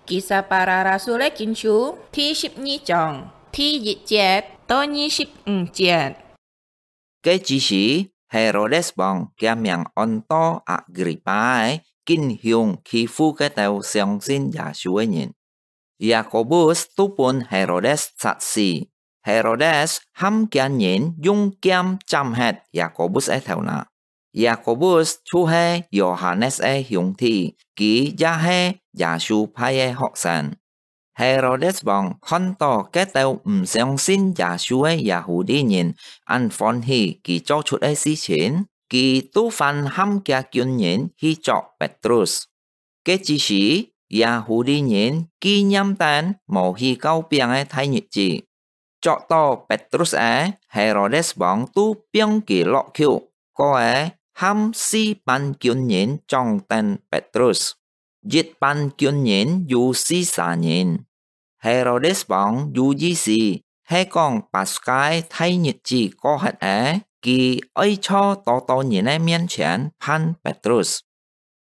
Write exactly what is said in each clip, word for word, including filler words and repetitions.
Kisah Para Rasul-é Kinsu第十二章第一節到二十五節。該之時，Herodes王厥名安到Agrippa-é，緊凶欺負該兜相信耶穌个人。Yakobus都分Herodes殺死。Herodes和厥人用劍斬忒Yakobus个頭那。Yakobus就係Yohanes个兄弟，佢也係耶穌派个學生。Herodes王看到該兜毋相信耶穌个Yahudi人恁歡喜佢做出个事情，佢都還喊厥軍人去捉Petrus。該之時，Yahudi人紀念等無去教餅个大日子，捉到Petrus个，Herodes王都放佢落獄，過後喊四班軍人掌等Petrus。一班軍人有四儕人。Herodes王有意思，係講Paskha大日子過忒了，佢愛在多多人个面前判Petrus。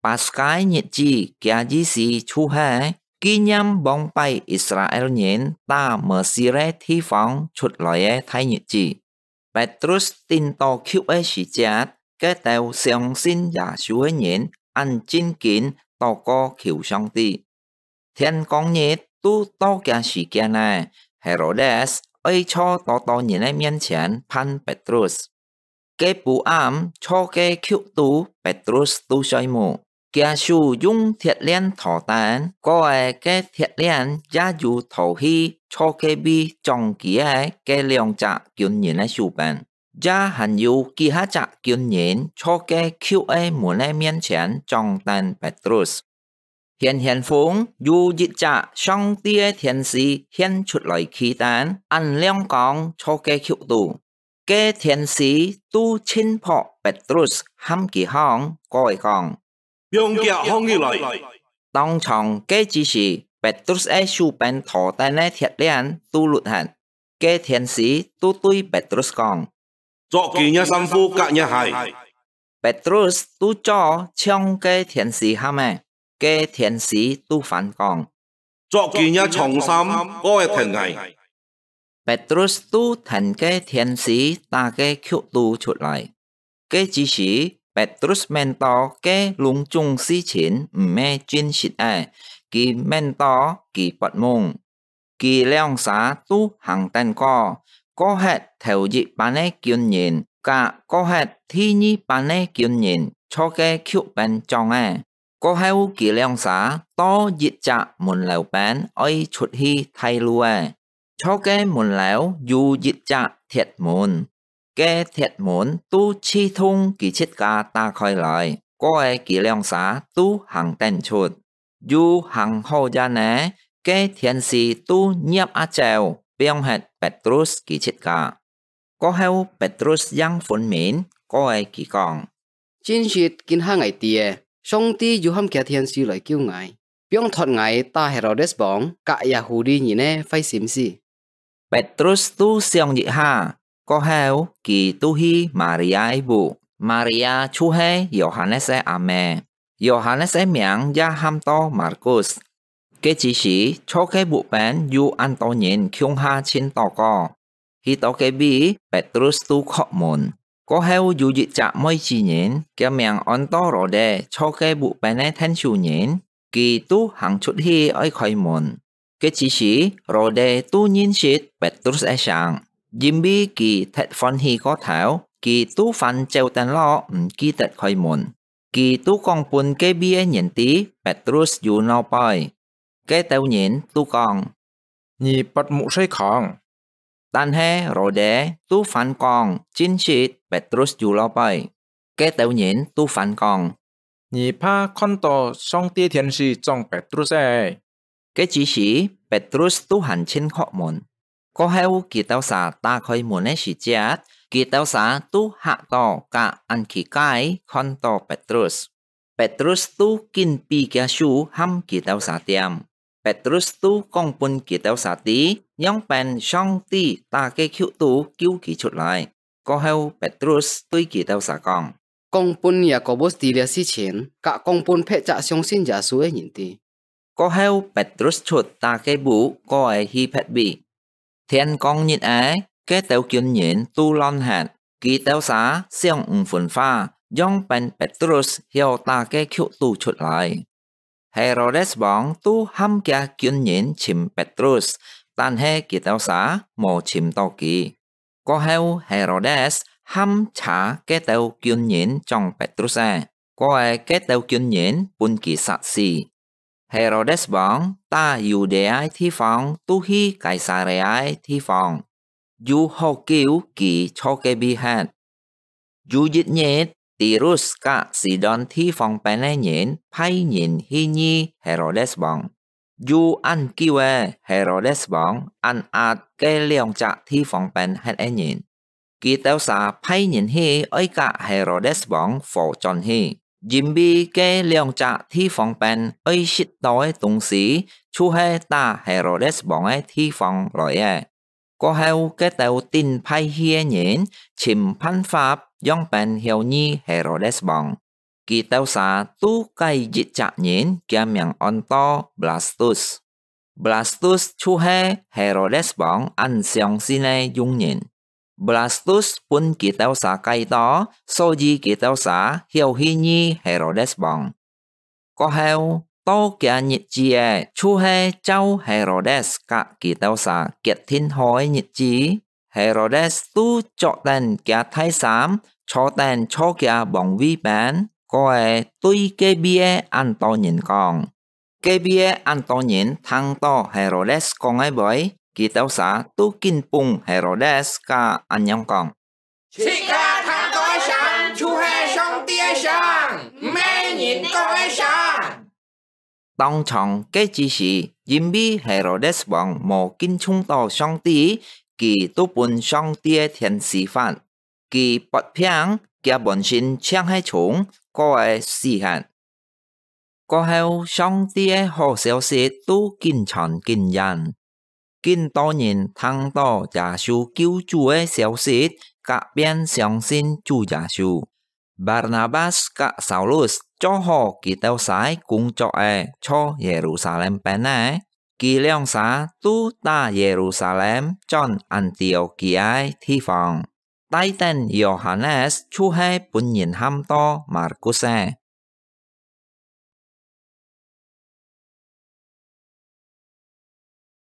Paskha日子，厥意思就係紀念往擺Israel人打Mesir个地方出來个大日子。Petrus跈到獄个時節，該兜相信耶穌个人恁正經禱告求上帝。天光日都到厥時間了，Herodes愛在多多人个面前判Petrus。該晡暗，在該獄肚，Petrus都睡目。 厥手用鐵鏈鉈等，過後該鐵鏈也有鉈去坐該位掌佢个該兩隻軍人个手邊，也還有幾下隻軍人坐該虯个門个面前掌等Petrus。顯顯風，有一隻上帝个天使現出來企等，恁亮光坐該虯肚。 該天使都親拍Petrus，喊佢䟘，過後講：「放厥䟘起來！」當場該之時，Petrus个手邊鉈等个鐵鏈都㪐忒。該天使都對Petrus講：「著佢若衫褲佮若鞋！」Petrus都做像該天使喊个，該天使都反講：「著佢若長衫，過後跈𠊎！」Petrus都跈該天使打个虯肚出來。該之時，Petrus愐到該攏總事情毋係真實个，佢愐到佢發夢。佢兩儕都行等過，過忒頭一班个軍人，佮過忒第二班个軍人坐該虯邊掌个。 過後佢兩儕到一隻門樓邊愛出去大路仔，坐該門樓有一隻鐵門，該鐵門都自動佢自家打開來，過後佢兩儕都行等出。又行好遠仔，該天使都攝啊走，放忒Petrus佢自家。 過後，Petrus應昏眠，過後佢講：「真實今下𠊎知仔，上帝有喊厥天使來救𠊎，放脫𠊎打Herodes王佮Yahudi人个壞心思。」Petrus都想一下，過後佢都去Maria个屋，Maria就係Yohanes个阿姆，Yohanes个名也喊到Markus。 該之時，坐該屋邊有恁多人共下盡禱告。去到該位，Petrus都叩門。過後有一隻妹子人，厥名安到Rhode，坐該屋邊个𢯭手人，佢都行出去愛開門。該之時，Rhode都認識Petrus个聲，因為佢忒歡喜過頭，佢都還走等落，毋記得開門。 佢都講分該位个人知Petrus有腦背。該兜人都講：「你發目睡空！」但係Rhode都還講：「真實，Petrus有腦背！」該兜人都還講：「你怕看到上帝天使掌Petrus仔！」 該之時，Petrus都還盡渴悶。過後，佢兜儕打開門个時節，佢兜儕都嚇到，甲恁奇怪看到Petrus。Petrus都緊比厥手喊佢兜儕恬。Petrus都講分佢兜儕知，仰般上帝打个球肚救佢出來。過後，Petrus對佢兜儕講：講分Yakobus知這事情，甲講分別隻相信耶穌个人知。過後，Petrus出打个布，過个去別位。 天光日仔，該兜軍人都亂忒，佢兜儕想毋分化，樣般Petrus曉打个曲都出來。Herodes王都喊厥軍人尋Petrus，但係佢兜儕無尋到佢。過後，Herodes喊車該兜軍人將Petrus仔，過个該兜軍人分佢殺死。 Herodes王打Yudea个地方都去該撒利亞个地方，有好久佢坐該位忒。有一日，Tirus佮Sidon地方邊个人派人去遇Herodes王。有恁久个，Herodes王恁壓該兩隻地方邊歇个人。 佢兜儕派人去愛佮Herodes王和轉去，因為該兩隻地方邊愛食到个東西，就係打Herodes王个地方來个。過後，該兜頂歹氣个人尋辦法，樣般曉遇Herodes王。佢兜儕都改一隻人，厥名安到Blastus。Blastus就係Herodes王恁相信个用人。 Blastus分佢兜儕改到，所以佢兜儕曉去遇Herodes王。過後，到厥日子仔，就係照Herodes佮佢兜儕決定好个日子。Herodes都著等厥大衫，坐等坐厥王位邊，過个對該位个恁多人講。 該位个恁多人聽到Herodes講个話，佢兜儕都緊揹Herodes个恁樣講：自家聽到个聲就係上帝个聲，毋係人講个聲。當場該之時，因為Herodes王無敬重到上帝，佢都分上帝个天使罰。佢發病，厥本身淨係蟲，過个死忒。 過後，上帝个好消息都緊傳緊延。緊多人聽到耶穌救主个消息，佮便相信主耶穌。Barnabas佮Saulus做好佢兜儕个工作仔，坐耶路撒冷邊仔。佢兩儕都打耶路撒冷轉安提阿基亞个地方。 帶等Yohanes就係分人喊到Markus仔。